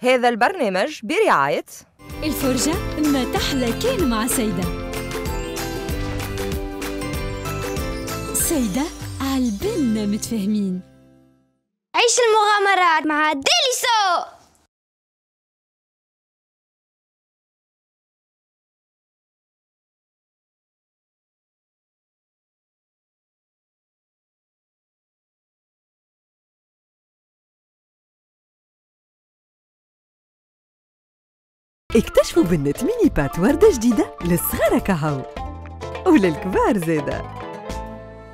هذا البرنامج برعاية الفرجة ما تحلى كان مع سيدة. سيدة عالبنا متفاهمين. عيش المغامرات مع ديليسو. اكتشفوا بنة mini pâtes وردة جديدة للصغار كهو وللكبار زادة.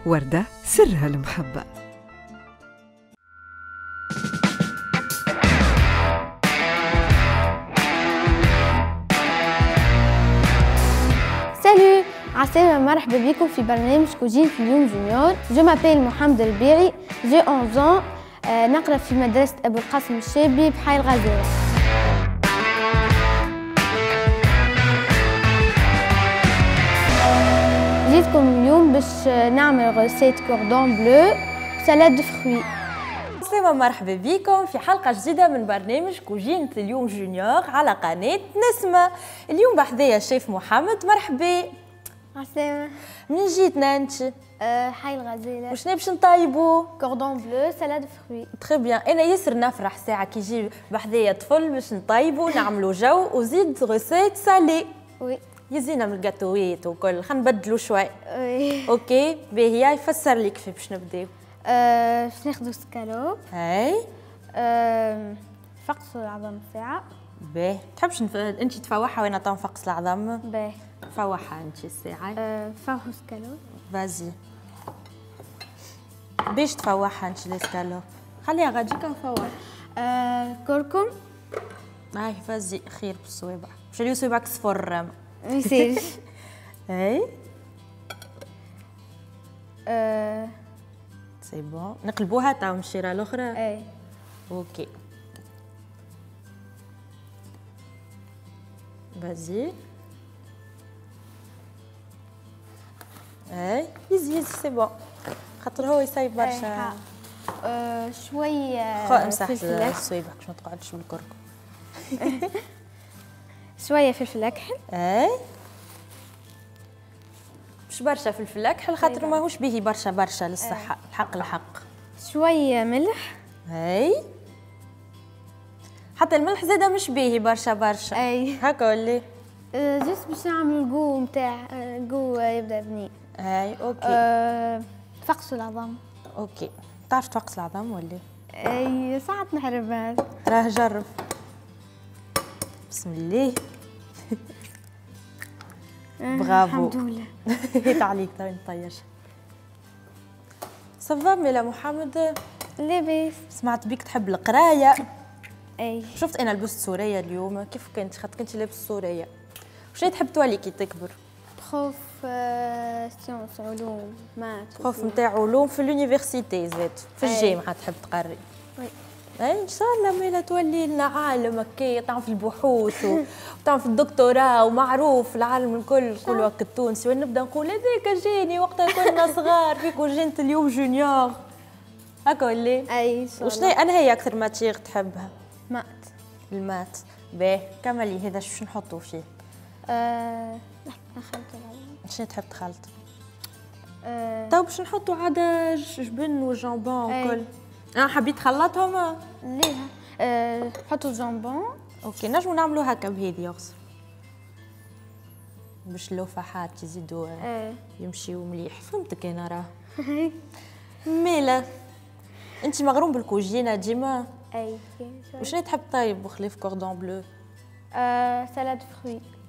وردة سرها المحبة. Salut عسلامة، مرحبا بكم في برنامج كوجين في اليوم junior. Je m'appelle محمد الربيعي، j'ai 11 ans، نقرا في مدرسة أبو القاسم الشابي بحي الغزالة. جيتكم اليوم باش نعمل recette cordon bleu salade de fruits. السلامة، مرحبا بكم في حلقة جديدة من برنامج كوجينة اليوم junior على قناة نسمة. اليوم بحذايا الشيف محمد، مرحبا. عسلامة. منين جيتنا انت؟ حي الغزالة. وشنو باش نطيبو؟ cordon bleu salade fruits. très bien، انا ياسر نفرح ساعة كي يجي بحذايا طفل باش نطيبو نعملو جو وزيد recette salée. oui يزينا من الجاتويت وكل، خلينا نبدلو شوي. oui OK، باهي يفسر لي كيف باش نبداو. باش ناخذو سكالوب. اي نفقسو العظم ساعة. باهي، تحبش انت تفوحها وانا تنفقس العظم؟ باهي فوحها انت الساعة. فوحو scalope. vas-y باش تفوحها انت السكالوب، خليها غاديك نفوح. كركم. هاي vas-y خير بالصوابع، باش يوليو صوابعك صفر. ما يصيرش. اي c'est bon، نقلبوها تاع من الشيره الاخرى. اي OK vas-y. اي يزي يزي c'est bon، خاطر هو يسيب برشا. شوية امسح صويبك باش ما تقعدش بالكركم. شوية فلفل اكحل. اي مش برشا فلفل اكحل خاطر ماهوش باهي برشا برشا للصحة. الحق الحق. شوية ملح. اي حتى الملح زاده مش باهي برشا برشا. اي هكا ولا juste باش نعمل ال goût نتاع ال goût يبدا بنين. اي OK. فقسوا العظم. OK، تعرف تفقس العظم ولا؟ اي ساعات نحربها. راه جرب. بسم الله. برافو. الحمد لله. هيت عليك تو نطيش. ça va ميلا محمد؟ لاباس. سمعت بيك تحب القراية. اي شفت انا لبست سورية اليوم، كيف كنت؟ خاطر كنت لابس سورية. وشنو تحب تولي كي تكبر؟ prof sciences علوم maths. prof نتاع علوم في l'université زاد، في الجامعة تحب تقري. oui اي ان شاء الله ميلا تولي لنا عالم هكايا، تعمل في البحوث وتعمل في الدكتوراه ومعروف العالم الكل، نقولوا هكا التونسي، ونبدا نقول هذاك جاني وقتها كنا صغار في كوجينة اليوم junior. هكا ولا؟ اي ان شاء الله. وشنو انا هي اكثر matière تحبها؟ maths. ال maths، باهي كملي هذا شو نحطوا فيه؟ نخلط العظم. شنو تحب تخلط؟ تو باش نحطوا عادة جبن و jambon وكل. انا حبيت خلطهم. ليه؟ نحطوا jambon. OK نجمو نعملو هكا بهذه يغسل باش اللفحات يزيدوا يمشيو مليح. فهمتك انا راه. ميلا انت مغروم بالكوجينه ديما؟ اي. وشنو تحب طيب بخلاف cordon bleu؟ salade fruits.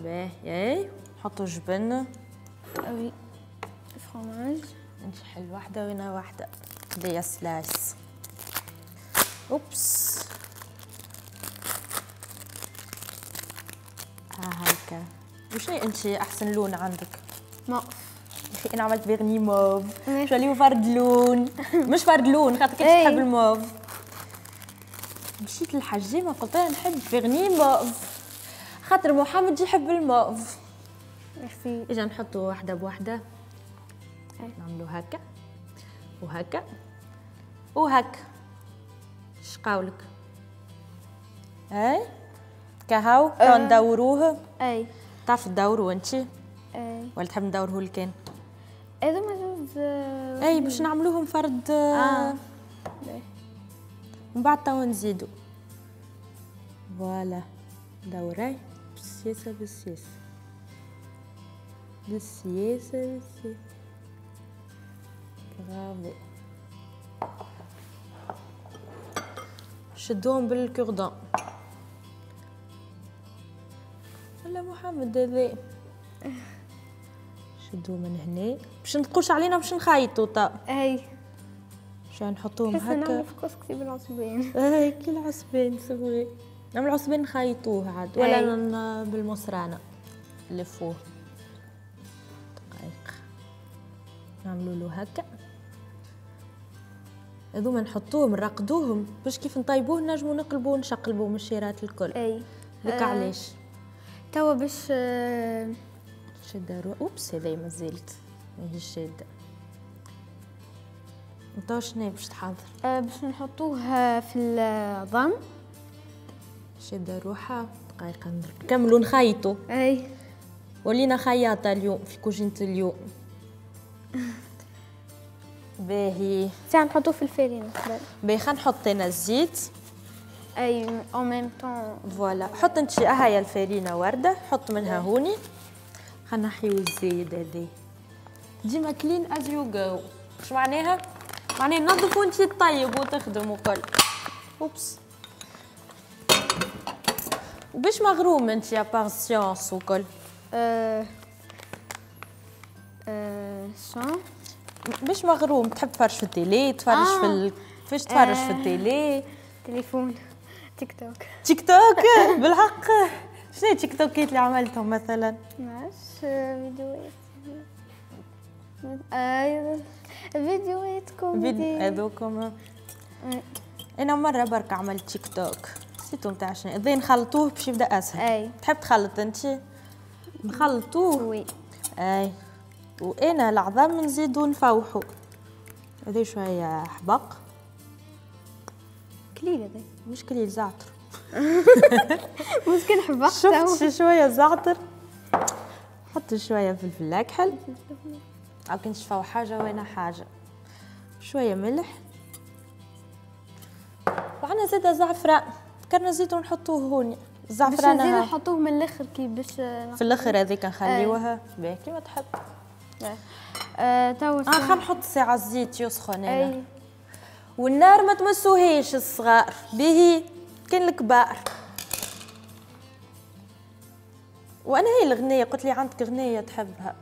باهي. اي نحطوا جبن. oui fromage. انت حل واحدة وانا واحدة. des slices. oups هاكا. وشنو انت احسن لون عندك؟ موف. اخي انا عملت vernis mauve، شو فرد لون؟ مش فرد لون خاطر كنت تحب الموف. مشيت للحجامه قلت لها نحب vernis mauve خاطر محمد يحب ال mauve. ميرسي. اجا نحطو واحدة بواحدة. نعملو هكا وهكا وهكا. شقاولك؟ اي كهو تو ندوروه. اي تعرف تدورو انت؟ اي ولا تحب ندوره لكان؟ هذوما زوز. اي باش نعملوهم فرد. ومن بعد تو نزيدو. voilà دوري بالسياسة بالسياسة بالسياسة بالسياسة. برافو. شدوهم بال cure-dent ولا محمد هذا؟ شدوه من هنا باش نقوش علينا باش نخيطو تا. اي باش نحطوهم هكا. نعملو في كسكسي بالعصبان. اي كي العصبان c'est vrai، نعمل عصبان نخيطوه عاد ولا بالمصرانه نلفوه. دقائق نعملو له هكا. هذوما نحطوهم نرقدوهم باش كيف نطيبوه نجمو نقلبوه ونشقلبوه من الشيرات الكل. اي هكا علاش توا باش شادة. oups هذايا مازالت ماهيش شادة. انت شنو باش تحضر؟ باش نحطوه في العظم. شادة روحها. دقيقة نكملو نخيطو. اي ولينا خياطة اليوم في كوجينة اليوم. باهي ساعة نحطوه في الفرينة. باهي خلينا نحط انا الزيت. اي en même temps. voilà حط انت هاي الفرينة وردة، حط منها هوني. خلينا نحيو الزايد هذا. ديما clean as you go. اش معناها؟ معناها نظف وانت تطيب وتخدم وكل. oups. وباش مغروم انت à part science وكل؟ شون باش مغروم؟ تحب تفرج في ال télé؟ تفرج في فاش تفرج في ال télé؟ تليفون، تيك توك. تيك توك بالحق؟ شنو تيك توكات اللي عملتهم مثلا؟ معرفش، فيديوهات. فيديوهات كوميدي هذوكم. انا مرة برك عملت تيك توك نسيتو نتاع شنو. اذا نخلطوه باش يبدا اسهل. اي تحب تخلط انت؟ نخلطوه. oui اي وانا العظام نزيدو نفوحو. هذا شوية حبق كليل، هذا مش كليل، زعتر. ممكن حبق. شفت شوية زعتر، حط شوية فلفل اكحل او كنت شفاو حاجة وانا حاجة، شوية ملح، وعندنا زاده زعفران. كنا نزيدو نحطوه هوني الزعفران. باش نزيدو نحطوه من الاخر كي باش في الاخر هذيك نخليوها. باهي كيما تحب. توا خلينا نحط ساعة الزيت يسخن انا. والنار ما تمسوهيش الصغار، باهي كان الكبار. وانا هي الغنية قلت لي عندك غنية تحبها؟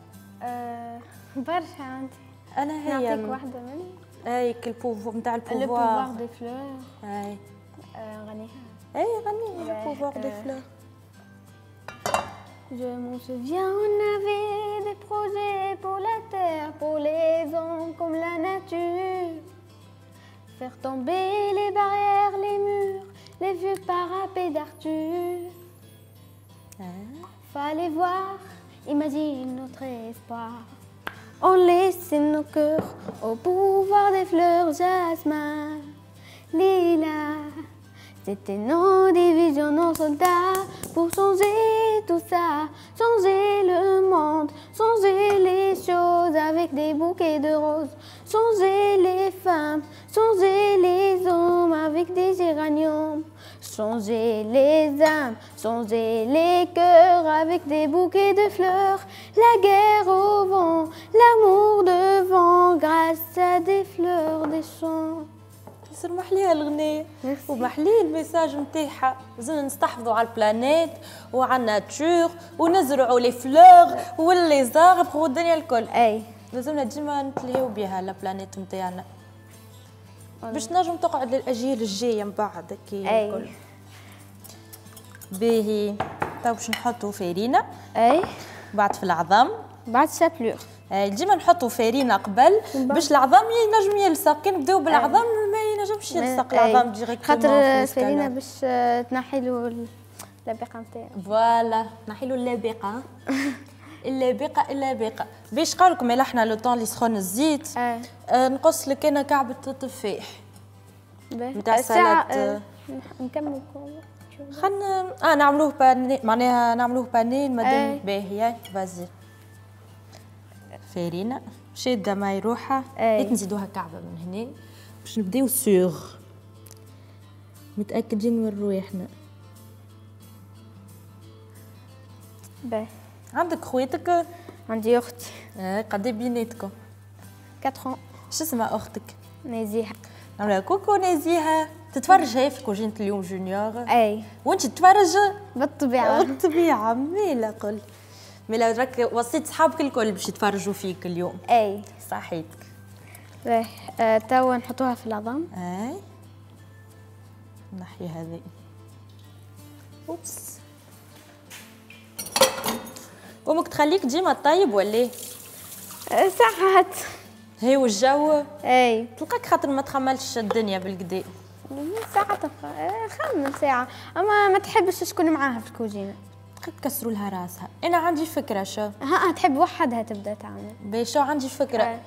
برشا عندي. انا هي نعطيك واحدة منهم. اي ال pouvoir نتاع ال pouvoir. le pouvoir des fleurs. اي غنيها. اي غنيها le pouvoir des fleurs. Je m'en souviens, on avait des projets pour la terre, pour les hommes comme la nature. Faire tomber les barrières, les murs, les vieux parapets d'Arthur. Fallait voir, imagine notre espoir. On laissait nos cœurs au pouvoir des fleurs, jasmin, lilas. C'était nos divisions, nos soldats pour changer tout ça, changer le monde, changer les choses avec des bouquets de roses, changer les femmes, changer les hommes avec des géraniums, changer les âmes, changer les cœurs avec des bouquets de fleurs, la guerre au vent, l'amour devant, grâce à des fleurs des champs. يصير محليها الغنية ومحليه ال message نتاعها. لازمنا نستحفظوا على ال planète وعلى ال nature ونزرعوا les fleurs و les arbres والدنيا الكل. اي لازمنا ديما نتلهيو بها la planète نتاعنا باش نجم تقعد للاجيال الجاية من بعد كي الكل. باهي تو باش نحطوا فارينه. اي بعد في العظم، بعد chapelure. ديما نحطوا فارينه قبل باش العظم ينجم يلصق. كي نبداو بالعظم ما ينجمش يلصق العظم directement، خاطر الفارينه باش تنحي له اللبقه نتاعو. voilà تنحي له اللبقه. اللبقه اللبقه باش قالكم الا احنا le temps اللي سخون الزيت. نقص لك انا كعبه التفاح نتاع السلطة. نكمل. خلينا نعملوه pané، معناها نعملوه pané مادام باهيه. vas-y فارينه شاده ماي روحها. نزيدوها كعبه من هنا باش نبداو sûr متاكدين من رواحنا. باهي. عندك خواتك؟ عندي اختي. قد بيناتكم؟ 4 ans. شو اسمها اختك؟ نزيهة. نعملها coucou نزيهة. تتفرج هي في كوجينة اليوم junior؟ اي. وانت تتفرج؟ بالطبيعة. بالطبيعة. ميلا قل ميلا راك وصيت صحابك الكل باش يتفرجوا فيك اليوم. اي صحيتك. باهي توا نحطوها في العظم. اي نحي هذه. oups. امك تخليك ديما طيب ولا؟ ساعات. هي والجو؟ اي. تلقاك خاطر ما تخملش الدنيا بالكدا. ساعات خمل ساعة، اما ما تحبش شكون معاها في الكوجينة. تكسروا لها راسها. انا عندي فكرة شو. ها تحب وحدها تبدا تعمل. باهي شو عندي فكرة.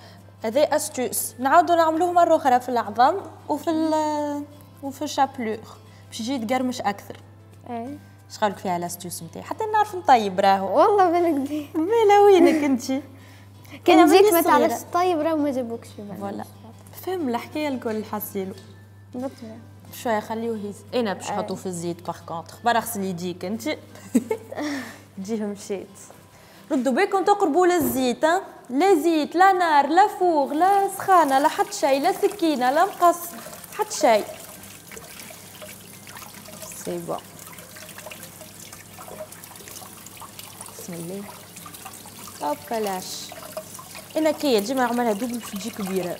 هذا astuce نعاودوا نعملوه مرة اخرى في العظم وفي ال chapelure باش يجي يتقرمش اكثر. اي. اش قالك فيها l'astuce نتاعي؟ حتى نعرف نطيب راهو. والله بالك مالا وينك انت؟ كان جيت ما تعرفش تطيب راهو ما جابوكش في بالك. voilà فهم الحكاية الكل حاسيلو. بالطبيعة. شوية خليه يهز. انا باش نحطو في الزيت par contre برا غسل يديك انت. تجيه مشيت. ردوا بالكم تقربوا للزيت، لا زيت لا نار لا four لا سخانه لا حتى شيء، لا سكينة لا مقص حتى شيء. c'est bon. بسم الله. hop بلاش. انا كي ديما نعملها double باش تجي كبيرة.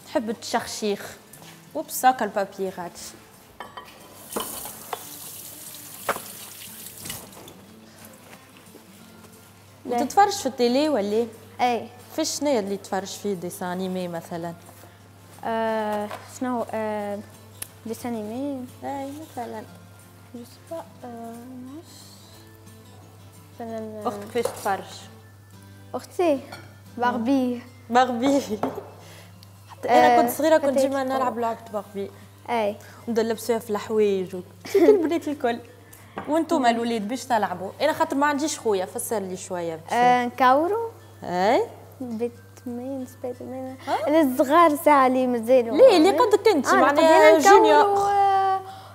نحب التشخشيخ. oups هاكا ال papier غادي. وتتفرج في ال télé ولا؟ اي. في شنو اللي تفرج فيه dessin animé مثلا؟ شنو dessin animé؟ اي مثلا je sais pas. مثلا اختك كيفاش تتفرج؟ اختي باربي. باربي. حتى انا كنت صغيرة كنت ديما نلعب لعبه باربي. اي. نبدا نلبس فيها في الحوايج كي البنات الكل. وانتم الولاد باش تلعبوا؟ انا خاطر ما عنديش خويا فسر لي شوية. نكورو. اي. باتمان سبايدر مان الصغار ساعة اللي مازالوا. ليه اللي قدك انت معناها junior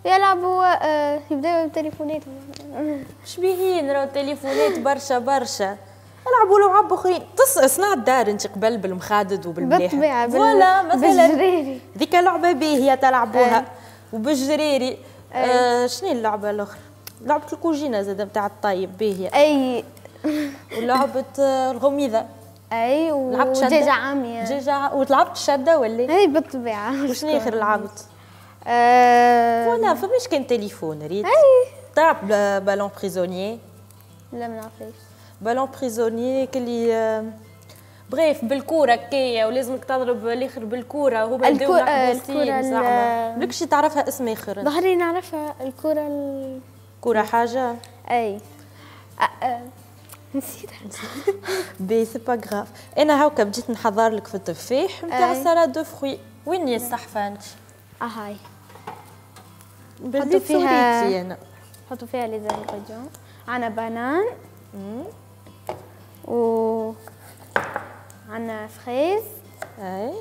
يلعبوا يبداو بتليفوناتهم. شبيهين راهو التليفونات برشا برشا. العبوا لعب اخرين. صنع الدار انت قبل بالمخادد وبالملاحق. بالطبيعة. voilà مثلا بالجريري. ذيك لعبه باهيه تلعبوها. وبالجريري. شنو اللعبة الاخرى؟ لعبه الكوجينه زاد نتاع الطيب باهيه. اي. ولعبه الغميضه. اي. ودجاجه عامية. دجاجه. وتلعبت الشدة ولا؟ اي بالطبيعة. وشنو اخر لعبت؟ voilà فماش كان تليفون ريت. اي. تلعب ballon prisonnier؟ لا ما نعرفش. ballon prisonnier كلي bref بالكورة كيا ولازمك تضرب الاخر بالكورة هما يبداو محبوسين زعما. بالكش تعرفها اسم اخر؟ ظهري نعرفها الكره. كره حاجة؟ اي. نسيتها. بي c'est pas grave. انا هاكا بديت نحضر لك في التفاح نتاع salade de fruits. وين هي الصحفه انت؟ هاي. بديت فيها انا. نحطوا فيها les ingrédients. عندنا banane و عندنا fraise. اي.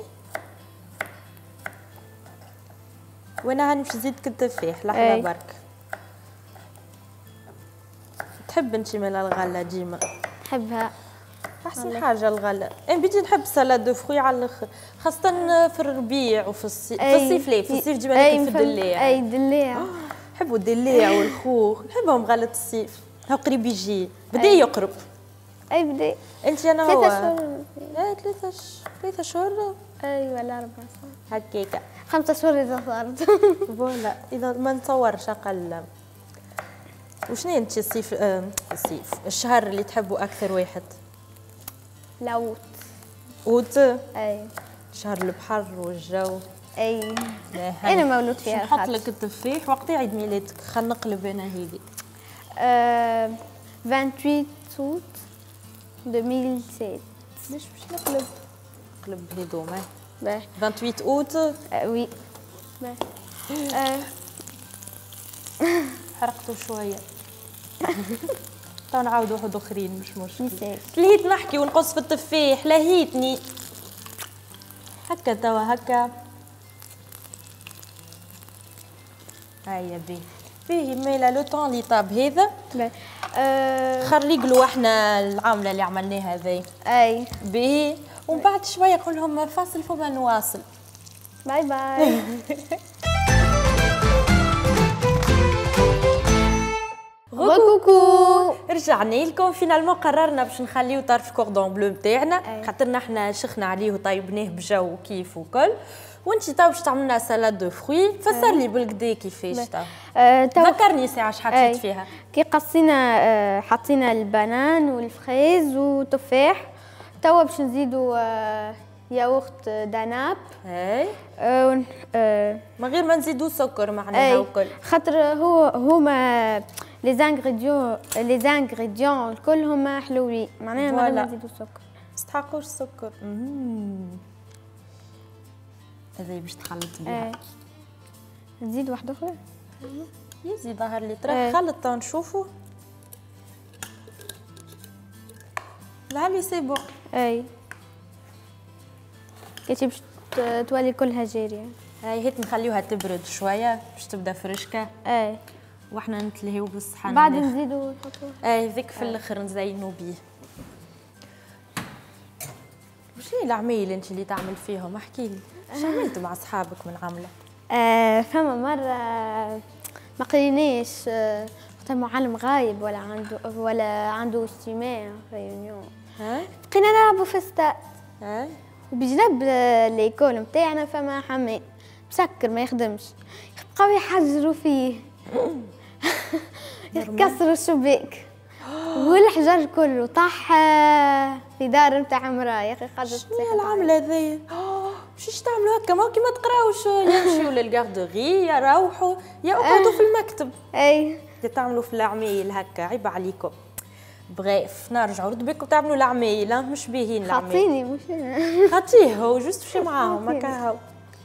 وانا هاني باش نزيدك التفاح لحظة برك. تحب انت مال الغلة ديما؟ نحبها. احسن حاجة الغلة. انا بدي نحب salade de fruits على الاخر، خاصة في الربيع وفي الصيف. في الصيف لا، في الصيف ديما ناكل في الدلاع. اي الدلاع. نحبوا الدلاع والخوخ، نحبهم غلة الصيف. هاو قريب يجي، بدا يقرب. اي بدا. انت انا هو 3 شهور. اي 3 شهور. اي ولا 4 شهور هكاكا. 5 شهور اذا صارت. voilà اذا ما نتصورش اقل. وشنو انت الصيف الصيف الشهر اللي تحبه اكثر واحد؟ l'août. اوت؟ اي. شهر البحر والجو. اي. انا مولود فيها. نحط لك التفاح وقت عيد ميلادك. خلينا نقلب انا هذه. 28 اوت 2007. ليش باش نقلب؟ نقلب هذوما. باهي. 28 اوت؟ oui. باهي. حرقته شوية. تو نعاودوا واحد اخرين مش مشكل. لهيت نحكي ونقص في التفاح، لهيتني. هكا توا هكا. هيا بيه فيه ميلا le temps اللي طاب هذا. خريقلو احنا العاملة اللي عملناها هذي. اي باهي، ومن بعد شوية نقول لهم فاصل فما نواصل. باي باي. coucou رجعنا لكم. finalement قررنا باش نخليو طرف cordon bleu نتاعنا، خاطرنا احنا شخنا عليه وطيبناه بجو كيف وكل. وانت تو باش تعملنا salade de fruits، فسر لي بالكدا كيفاش تو. ذكرني ساعة اش حطيت فيها. كي قصينا حطينا ال banane وال fraise وتفاح، توا باش نزيدو ياغورت داناب. اي من غير ما نزيدو سكر معناها وكل، خاطر هو هما les ingrédients الكل هما حلوين، معناها ما غير ما نزيدو سكر. ما تستحقوش السكر. هذا باش تخلط بيها. نزيد واحدة أخرى؟ يزي ظهر لي ترى خلط تو نشوفو. لعلي c'est bon. اي كي باش تولي كلها جارية. هاي هيك نخليوها تبرد شوية باش تبدا فرشكة. اي واحنا نتلهيو بالصحن بعد نزيدو نحطوه. اي ذيك في الاخر نزينو بيه. وشنو العمايل انت اللي تعمل فيهم؟ احكي لي اش عملت مع اصحابك من عامله؟ فما مرة ما قريناش، وقت المعلم غايب ولا عنده اجتماع réunion، بقينا نلعبوا في الستاد. وبجنب l'école نتاعنا فما حمام مسكر ما يخدمش، بقاو يحجروا فيه يكسروا الشباك والحجر كله طاح في دار نتاع مراة. يا اخي خرجت. شنو العملة هذيا؟ باش تعملوا هكا؟ ما كي ما تقراوش يمشيو لل garderie، يا روحوا يا اقعدوا في المكتب. اي تعملوا في العمايل هكا، عيب عليكم. bref نرجعوا، ردوا بالكم تعملوا العمايل، مش باهيين العمايل. خاطيني مش خاطيه هو juste مشي معاهم هكا. هاو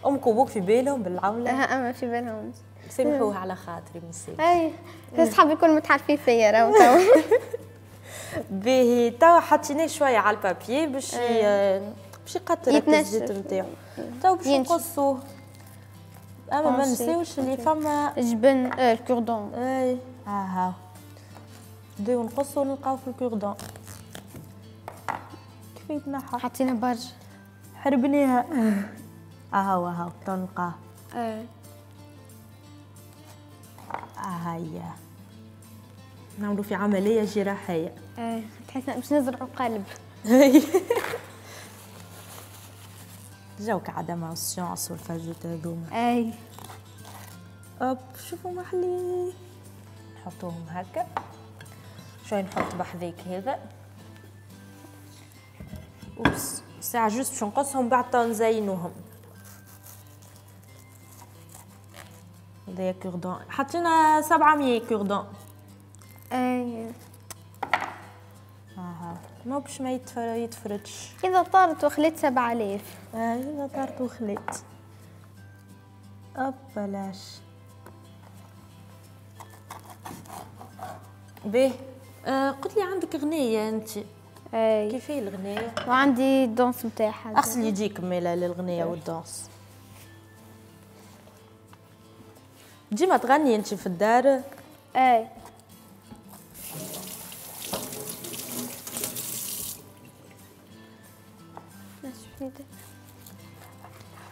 امك وابوك في بالهم بالعملة؟ اما في بالهم. سامحوها على خاطري مسير. اي صحابي الكل متعرفين فيا راهو تو. باهي توا حطيناه شوية على ال papier باش يقطر الزيت نتاعو. تو باش نقصوه، اما ما نساوش اللي فما جبن ال cure-dent. اي ها نبداو نقصو نلقاو في ال cure-dent كيف يتنحى. حطينا برشا حربناها. اهو اهو تو نلقاه. هيا نعملو في عملية جراحية. تحس باش نزرعو قلب. جاوك عادة مع ال science والفازات هذوما. اي hop شوفوا محلي. نحطوهم هكا شوي، نحط بحذاك هذا. oups ساعة juste باش نقصهم بعد تو نزينوهم. هذايا cure-dent حطينا 700 cure-dent. اي اها ما باش ما يتفرتش. اذا طارت وخليت 7000. اذا طارت وخليت hop بلاش. باهي قلت لي عندك غنية انت. اي كيف هي الغنية؟ وعندي ال danse نتاعها. اغسل يديك مالا للغنية وال danse. ديما تغني انت في الدار؟ اي.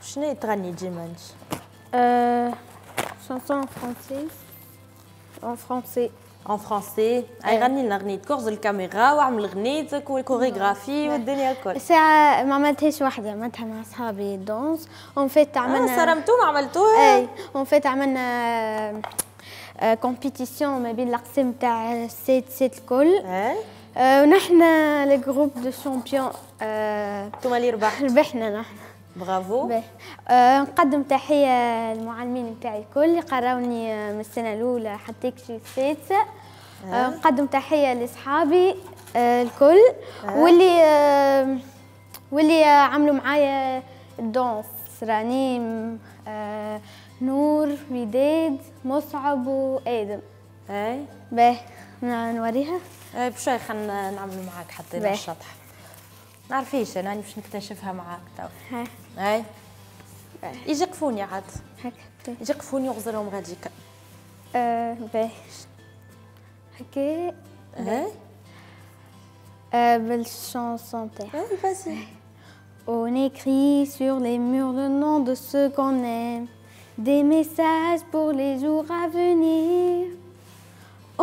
شنو تغني ديما انت؟ chanson française en français. en français. اي غني لنا غنيتك، كورز الكاميرا واعمل غنيتك والكوريغرافي والدنيا الكل. ساعة ما عملتهاش وحدة، عملتها مع صحابي danse. en fait عملنا صرمتو ما عملتوها؟ اي en fait عملنا compétition ما بين الاقسام تاع sept sept الكل. اي ونحن le groupe de champions. انتوما اللي ربحتوا. ربحنا نحن. برافو. نقدم تحية للمعلمين نتاعي الكل اللي قراوني من السنة الأولى حتى كشي السادسة. نقدم تحية لأصحابي الكل واللي عملوا معايا ال danse، رنيم، نور، وداد، مصعب وآدم. اي باهي نوريها. اي بشوي خلينا نعملوا معاك حتى الشطح. نعرفيش انا باش نكتشفها معاك تو. اي يجي قفوني عاد هكا، يجي قفوني وغزرهم غاديكا. باهي هكا. اي بال chanson تاعها. اي vas-y. On écrit sur les murs le nom de ceux qu'on aime, des messages pour les jours à venir.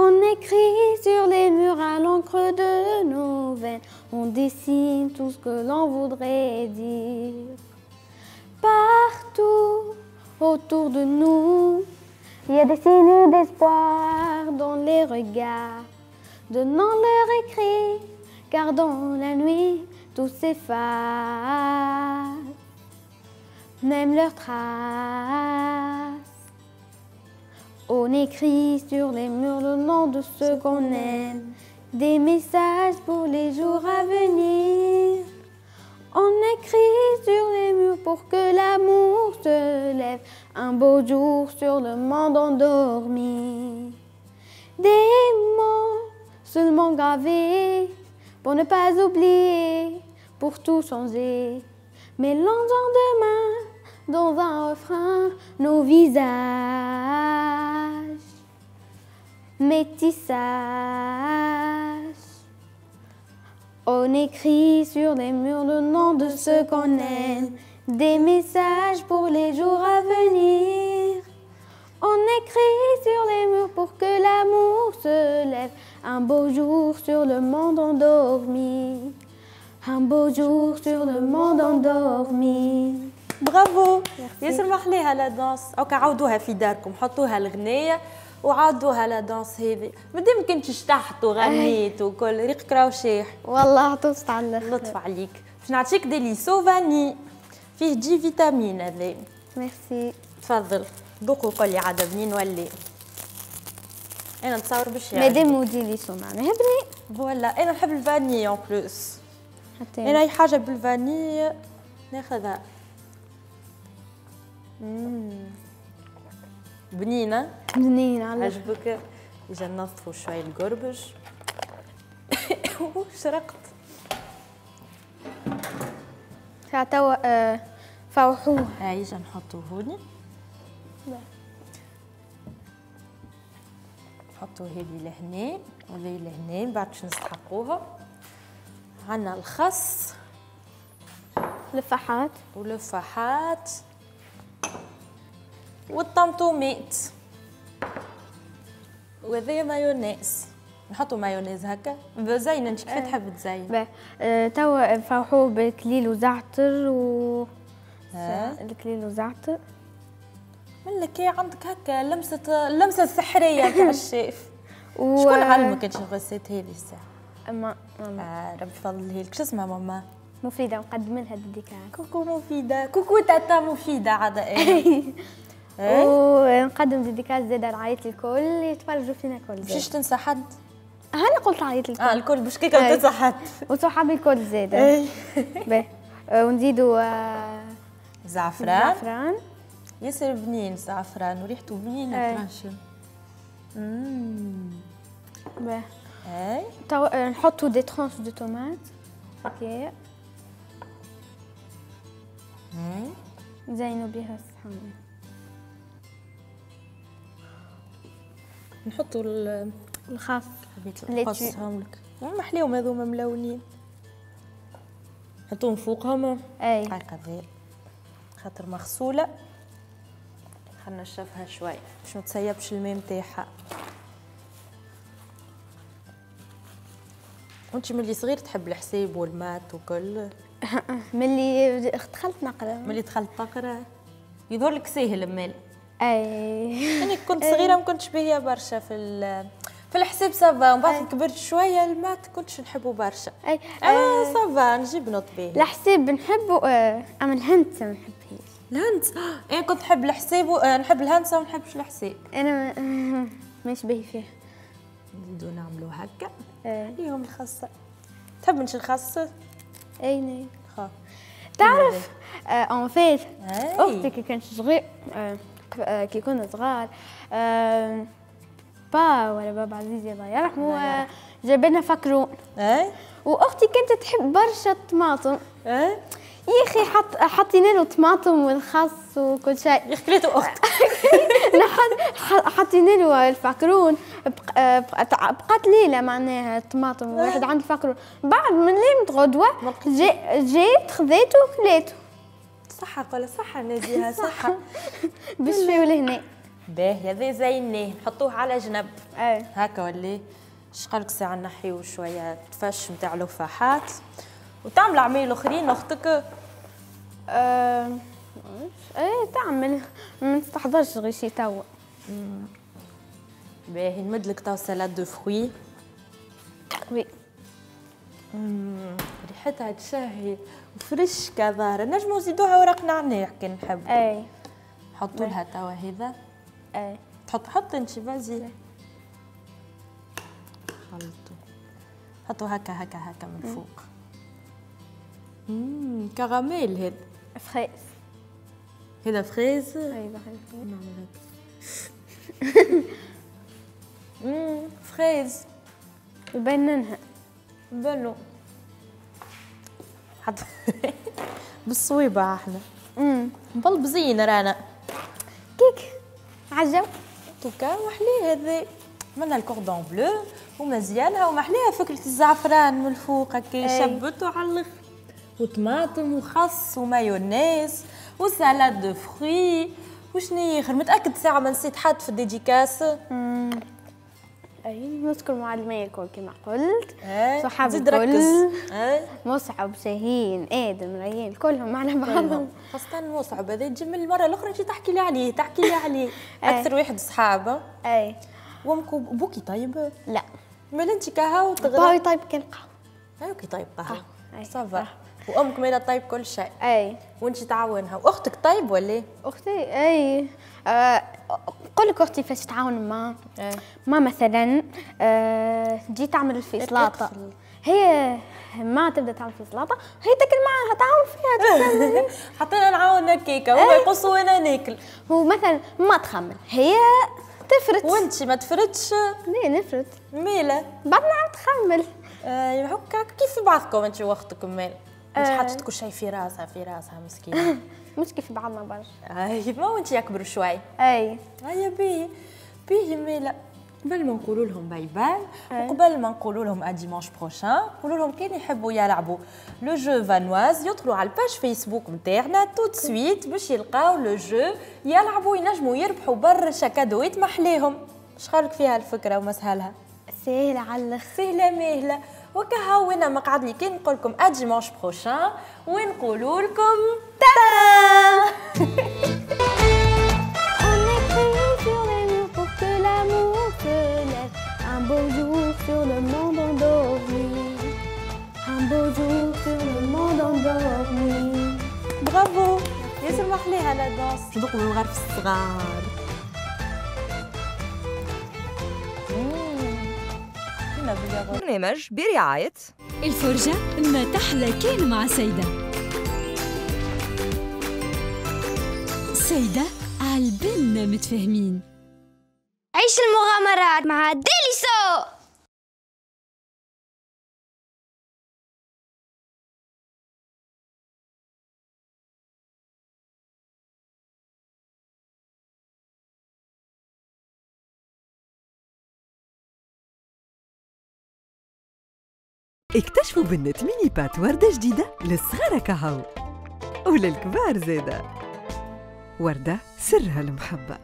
On écrit sur les murs à l'encre de nos veines, on dessine tout ce que l'on voudrait dire. Partout autour de nous, il y a des signes d'espoir dans les regards, donnant leur écrit, car dans la nuit, tout s'efface, même leurs traces. On écrit sur les murs le nom de ceux qu'on aime, des messages pour les jours à venir. On écrit sur les murs pour que l'amour se lève un beau jour sur le monde endormi. Des mots seulement gravés pour ne pas oublier, pour tout changer. Mélangeant demain dans un refrain nos visages, métissages. On écrit sur les murs le nom de ceux qu'on aime, des messages pour les jours à venir. On écrit sur les murs pour que l'amour se lève un beau jour sur le monde endormi. Un beau jour sur le monde endormi. برافو ياسر محليها la danse. اوكا عاودوها في داركم، حطوها الغنية وعاودوها la danse هذه. مادام كنت شطحت وغنيت وكل ريقك راهو شاح. والله عطست على الاخر. لطف عليك. باش نعطيك Délisso vanille فيه des vitamines هذا. ميرسي. تفضل ذوق وقول لي عاد بنين ولا. انا نتصور باش يعجبك. مادام Délisso معناها بنين. voilà انا نحب ال vanille en plus. انا اي حاجة بال vanille ناخذها. بنينه بنينه على عجبك. اجا ننظفوا شوي القربج. شرقت توا فوحوه. هاي اجا نحطوه هوني. نحطو هذه لهنا وهذه لهنا من بعد باش نستحقوها. عندنا الخس، لفحات ولفحات والطمطوميت، وهذايا مايونيز. نحطو مايونيز هكا زين. انت كيف تحب تزين؟ توا نفوحوه بكليل وزعتر و الكليل وزعتر. من كي عندك هكا لمسه، اللمسة السحريه تاع الشيف. شكون علمك انت ال recette هذه الساعة؟ اما ربي يفضلها لك. شو اسمها ماما؟ مفيدة، نقدم لها dédicace. coucou مفيدة، coucou tata مفيدة عاد. ونقدم dédicace زاده لعائلة الكل يتفرجوا فينا الكل. باش تنسى حد؟ انا قلت عائلة الكل. الكل باش كيكا تنسى حد. وصحابي الكل زاده. باهي ونزيدوا زعفران. زعفران ياسر بنين الزعفران وريحته بنينه ترشم. باهي اي توا نحطوا des tranches de tomate هكا نزينوا بها الصحن. نحطوا الخس. حبيت نقصهم لك. محليهم هذوما ملونين. نحطوهم فوقهم. اي هاي قضية خاطر مغسوله. خلينا نشفها شوي باش ما تسيبش الماء نتاعها. وانت ملي صغير تحب الحساب وال maths وكل؟ ملي دخلت نقرا. ملي دخلت تقرا يظهر لك ساهل مال. اي انا كنت صغيرة ما كنتش باهيه برشا في الحساب ça va، ومن بعد كبرت شوية ال maths كنتش نحبه برشا. اي ça va نجيب note باهيه. الحساب نحبه، اما الهندسة ما نحبهاش. الهندسة انا كنت نحب الحساب نحب الهندسة وما نحبش الحساب. انا ماشي باهي فيها. نزيدو نعملو هكا. ليهم الخاصة. تحب انت الخاصة؟ اي نعم. تعرف en fait اختي كي كانت صغير، كي كنا صغار با ولا بابا عزيزي الله يرحمه جاب لنا فكرون. اي واختي كانت تحب برشا الطماطم. اي يا اخي حطينا له طماطم والخس وكل شيء. يا اخي كليته اختك. حطينا له الفكرون، بقات ليلة معناها الطماطم واحد عند الفكرون، بعد من ليلة غدوه جيت خذيته وكليته. صحة قول صحة نزيهة صحة. باش فيه لهنا. باهي هذا زيناه نحطوه على جنب. اي هكا ولا اش قالك ساعة نحيو شوية تفش نتاع لفاحات وتعمل عمايل اخرين اختك؟ ايه تعمل، ما تستحضرش غير شي توا. باهي نمدلك توا salade de fruits. oui ريحتها تشهي وفريشكا ظاهرة، نجمو نزيدوها ورق نعناع كان نحب. اي حطوا لها توا هذا. اي حط انت vas-y. خلطوا حطوا هكا هكا هكا من فوق. كراميل هذا. fraise. هذا fraise؟ اي نعمل هكا. fraise يبننها. بنو حط بالصويبة احنا. مبلبزين رانا. كيك عجب. توكا وحليه هذا. عملنا ال cordon bleu ومزيانها ومحليها فكرة الزعفران من الفوق هكا شبتو على الاخر. وطماطم وخس ومايونيز و salade de fruits وشنو اخر. متأكد ساعة ما نسيت حد في ال dédicace. اي نذكر معلمي الكل كما قلت، صحابي الكل، مصعب شاهين ادم ريان كلهم على بعضهم، خاصة مصعب هذا تجي من المرة الأخرى تجي تحكي لي عليه تحكي لي عليه. أكثر واحد صحابه. اي وامك بوكي طيب؟ لا مال انت كهو تغرب. باوي طيب كان قهوة. ايوا كي طيب قهوة ça va. وامك مالا طيب كل شيء. اي وانت تعاونها. واختك طيب ولا؟ اختي اي نقول لك اختي فاش تعاون ما ما مثلا تجي تعمل في سلطة، هي ما تبدا تعمل في سلطة هي تاكل معاها تعاون فيها. حطينا نعاون هكاكا هما يقصوا وانا ناكل. ومثلا ما تخمن هي تفرت. وانت ما تفرتش؟ لا نفرت ميله بعد نعاود تخمل. هكا كيف بعضكم انت واختك مال؟ انت حطيت كل شيء في راسها في راسها مسكينه. مش كيف بعضنا برشا. اي ما وانت يكبروا شوي. اي هيا باهي باهي ميلا. قبل ما نقولوا لهم bye bye وقبل ما نقولوا لهم à dimanche prochain، نقولوا لهم كان يحبوا يلعبوا le jeu Vanoise يدخلوا على ال page Facebook نتاعنا tout de suite باش يلقاو le jeu يلعبوا ينجموا يربحوا برشا كادوات محليهم. اش خالك فيها الفكرة ومسهلها؟ سهلة على الاخر، سهلة ماهله. وكهو وانا ما قعد لي كان نقول لكم à dimanche prochain ونقولوا لكم ta-da. Un beau jour sur le monde endormi. Un beau jour sur le monde endormi. برافو ياسر محليها la danse. ندوقوا بالغرف الصغار. برنامج برعاية الفرجة ما تحلى كان مع سيدة. سيدة عالبالنا متفاهمين. عيش المغامرات مع ديليسو. اكتشفوا بنة mini pâtes وردة جديدة للصغار كهو وللكبار زادة. وردة سرها المحبة.